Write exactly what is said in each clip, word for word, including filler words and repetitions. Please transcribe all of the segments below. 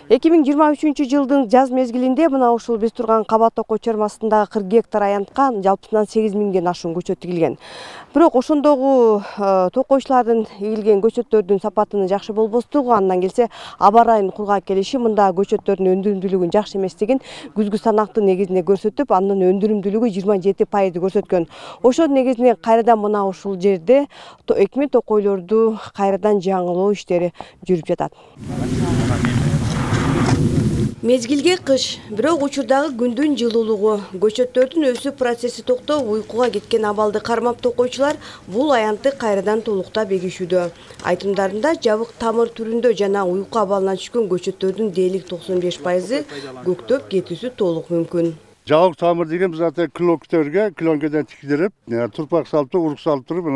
эки миң жыйырма үчүнчү жылдын жаз мезгилинде мына ушул биз турган Каба Токой чарбасындагы кырк гектар аянтка жалпысынан сегиз миңден ашуун көчөт тигилген. Бирок ошондогу токойчулардын эгилген көчөттөрдүн сапатынын жакшы болбостугу, андан келсе аба ырайынын кургак келиши мындагы көчөттөрдүн өндүрүмдүүлүгүнүн жакшы эместигин күзгү санактын негизинде көрсөтүп, анын өндүрүмдүүлүгү жыйырма жети пайызды көрсөткөн. Ошонун негизинде кайрадан мына ушул жерде экме токойлорду кайрадан жаңылоо иштери жүрүп жатат. Мезгилге кыш, бирок учурдагы күндүн жылуулугу, көчөттөрдүн өсүү процесси токтоп, уйкуга кеткен абалды кармап токойчулар бул аянтты кайрадан толуктап эгишүүдө. Айтымдарында жабык тамыр түрүндө жана уйку абалынан түшкөн көчөттөрдүн дээрлик токсон беш пайызы көктөп кетүүсү толук мүмкүн. Жабык тамыр деген биз ата клонктерге, клонкеден тигдирип, турпак салып, урук салып туруп,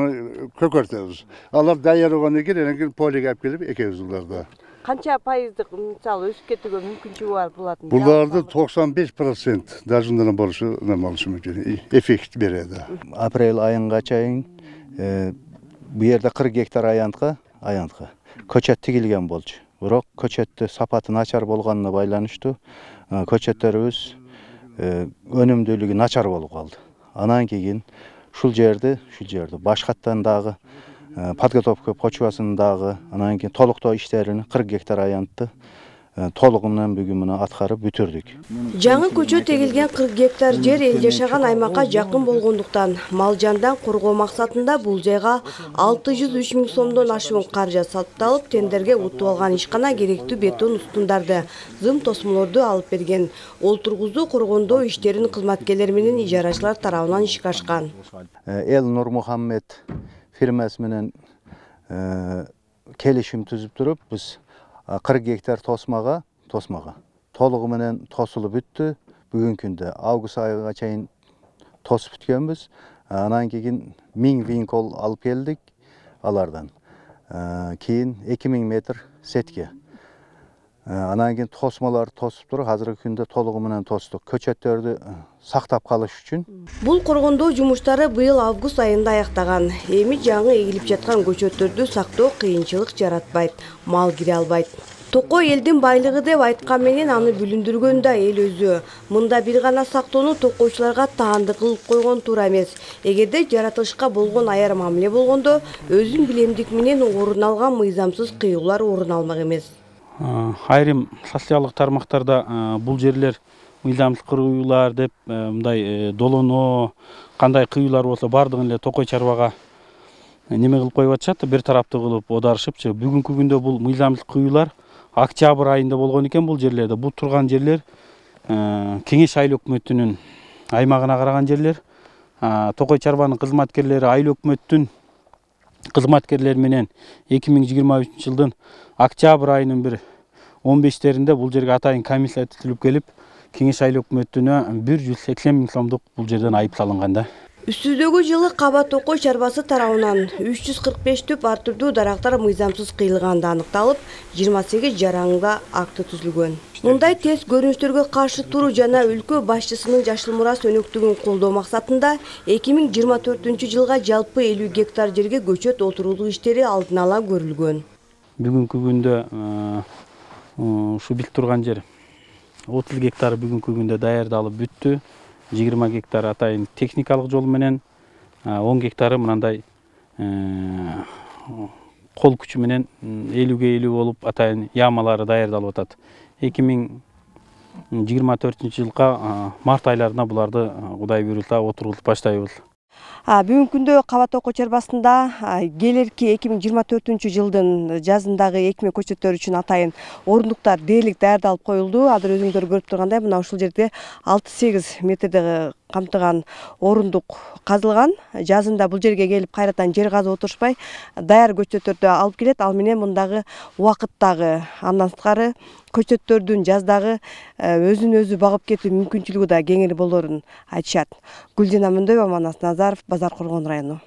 көкөртөбүз. Алар даяр болгондон кийин анан полиге алып келип экебиз буларды. Канча пайыздык мисалы өсүп кетүүгө мүмкүнчүлүгү бар булардын? Буларды токсон беш процент даже мындан болушу болушу мүмкүн. Эффект берет. Апрель айынга чейин бу жерде кырк гектар аянтка, аянтка көчөт тигилген болчу. Бирок көчөттү сапаты начар болгонуна байланыштуу көчөттөрүбүз өнүмдүүлүгү начар болуп калды. Анан кийин ушул жерди, ушул жерди башкаттан дагы подготовка почвасындагы анан кийин толуктоо иштерин кырк гектар аянтты толугу менен бүгүн аткарып бүтүрдүк. Жаңы көчөт эгилген кырк гектар жер эл жашаган аймакка жакын болгондуктан мал жандан коргоо максатында бул жайга алты жүз үч миң сомдон ашуун каражат сатып, тендерге утуп алган ишкана керектүү бетон устундарды, зым тосмолорду алып берген. Ол тургузуу коргондоо иштерин кызматкерлер менен ижарачылар тарабынан ишке ашкан. Эл Нурмухаммед фирмасы менен келишим түзүп туруп, биз кырк гектар тосмага, тосмага толугу менен тосулуп бүттү. Бүгүнкү күндө август айына чейин тосуп бүткөнбүз. Анан кийин миң винкол алып келдик алардан. Кийин эки миң метр сетке. Анан кийин тосмаларды тосуп туруп, азыркы күндө толугу менен тостук. Көчөттөрдү сактап калыш үчүн. Бул коргондоо жумуштары быйыл август айында аяктаган. Эми жаңы эгилип жаткан көчөттөрдү сактоо кыйынчылык жаратпайт, мал кире албайт. Токой элдин байлыгы деп айткан менен аны бүлүндүргөн да эл өзү. Мында бир гана сактоону токойчуларга таандык кылып койгон туура эмес. Эгерде жаратылышка болгон аяр мамиле болгондо, өзүн билемдик менен орун алган мыйзамсыз кыюулар орун алмак эмес. Айрым социалдык тармактарда бул жерлер мыйзамсыз кыюулар деп мындай долоноо, кандай кыюулар болсо бардыгын эле токой чарбага неме кылып коюп атышат, бир тараптуу кылып оодарышыпчы. Бүгүнкү күндө бул мыйзамсыз кыюулар октябрь айында болгон экен бул жерлерде. Бул турган жерлер Кеңеш айыл өкмөтүнүн аймагына караган жерлер. Токой чарбанын кызматкерлери айыл өкмөттүн кызматкерлери менен эки миң жыйырма үчүнчү жылдын октябрь айынын бир он бештеринде бул жерге атайын комиссия түзүлүп келип, Кеңеш айыл өкмөтүнө бир жүз сексен миң сомдук бул жерден айып салынган да. Үстүздөгү жылы Каба Токой чарбасы тарабынан үч жүз кырк беш түп ар түрдүү дарактар мыйзамсыз кыйылганы аныкталып, жыйырма сегиз жараңда акты түзүлгөн. Мындай тез көрүнүштөргө каршы туруу жана өлкө башчысынын жашыл мурас өнөктүгүн колдоо максатында эки миң жыйырма төртүнчү жылга жалпы элүү гектар жерге көчөт отурулуу иштери алдын ала көрүлгөн. Бүгүнкү күндө ушу бит турган жер отуз гектар бүгүнкү күндө даярдалып бүттү. жыйырма гектар атайын техникалык жол менен, он гектары мындай кол күчү менен элүүгө элүү болуп атайын ямалары даярдалып атат. эки миң жыйырма төртүнчү жылга март айларына буларды Кудай буйрулса отурулуп баштайбыз. Бүгүнкү күндө Каба Токой чарбасында келерки эки миң жыйырма төртүнчү жылдын жазындагы экме көчөттөр үчүн атайын орундуктар дээрлик даярдалып коюлду. Азыр өзүңдөр көрүп тургандай мына ушул жерде алты сегиз метрди камтыган орундук казылган. Жазында бул жерге келип кайрадан жер казып отурушпай даяр көчөттөрдү алып келет. Ал менен мындагы убакыттагы, андан сырткары көчөттөрдүн жаздагы өзүн өзү багып кетүү мүмкүнчүлүгү да кеңири болоорун айтышат. Гүлжина Мөндөйбө, Манас Назаров, Базар Коргон району.